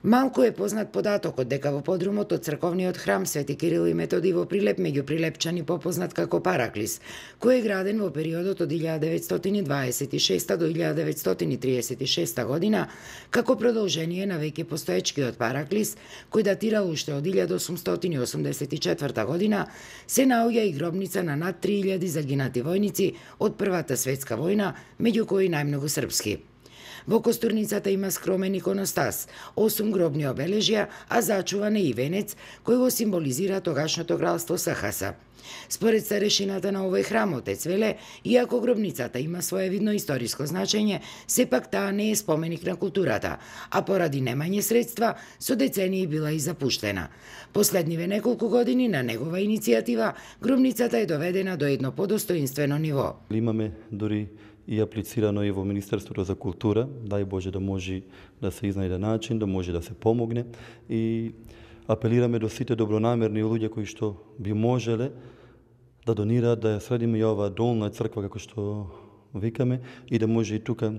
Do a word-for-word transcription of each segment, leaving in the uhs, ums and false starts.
Малку е познат податокот дека во подрумот од црковниот храм Свети Кирил и Методи во Прилеп меѓу Прилепчани попознат како Параклис, кој е граден во периодот од илјада деветстотини дваесет и шеста до илјада деветстотини триесет и шеста година, како продолжение на веќе постоечкиот Параклис, кој датира уште од илјада осумстотини осумдесет и четврта година, се наоѓа и гробница на над три илјади загинати војници од Првата светска војна, меѓу кои најмногу српски. Во костурницата има скромен иконостас, осум гробни обележја, а зачуван е и венец кој го символизира тогашното кралство Сахаса. Според старешината на овој храм отец веле, иако гробницата има своевидно историско значење, сепак таа не е споменик на културата, а поради немање средства, со децении била и запуштена. Последниве неколку години на негова иницијатива, гробницата е доведена до едно подостоинствено ниво. Имаме дори и аплицирано и во Министерството за култура, дај Боже да може да се изнајде начин, да може да се помогне, и апелираме до сите добронамерни луѓе кои што би можеле да донираат, да ја средиме и оваа долна црква, како што викаме, и да може и тука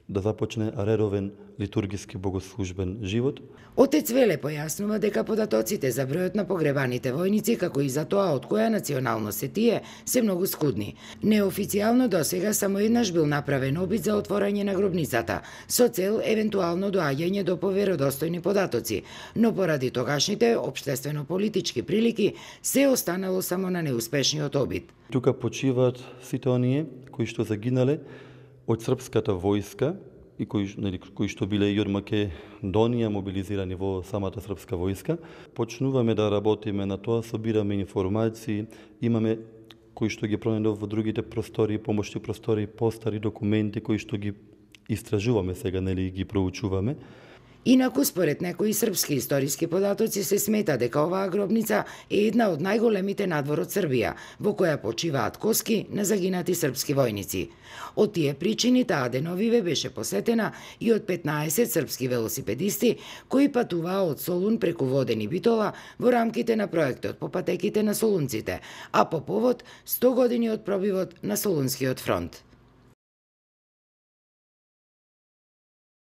да започне редовен литургиски богослужбен живот. Отец Веле појаснува дека податоците за бројот на погребаните војници, како и за тоа од која националност се тие, се многу скудни. Неофицијално досега само еднаш бил направен обид за отворање на гробницата, со цел евентуално доаѓање до поверодостојни податоци, но поради тогашните општествено-политички прилики се останало само на неуспешниот обид. Тука почиваат сите оние кои што загинале од српската војска и кои, нели, кои што биле и од Македонија мобилизирани во самата српска војска. Почнуваме да работиме на тоа, собираме информации, имаме кои што ги пронајдов во другите простори, помошни простори, постари документи кои што ги истражуваме сега, нели, ги проучуваме. Инаку, според некои српски историски податоци, се смета дека оваа гробница е една од најголемите надвор од Србија, во која почиваат коски на загинати српски војници. Од тие причини таа деновиве беше посетена и од петнаесет српски велосипедисти кои патуваа од Солун преку Воден и Битола во рамките на проектот по патеките на солунците, а по повод сто години од пробивот на Солунскиот фронт.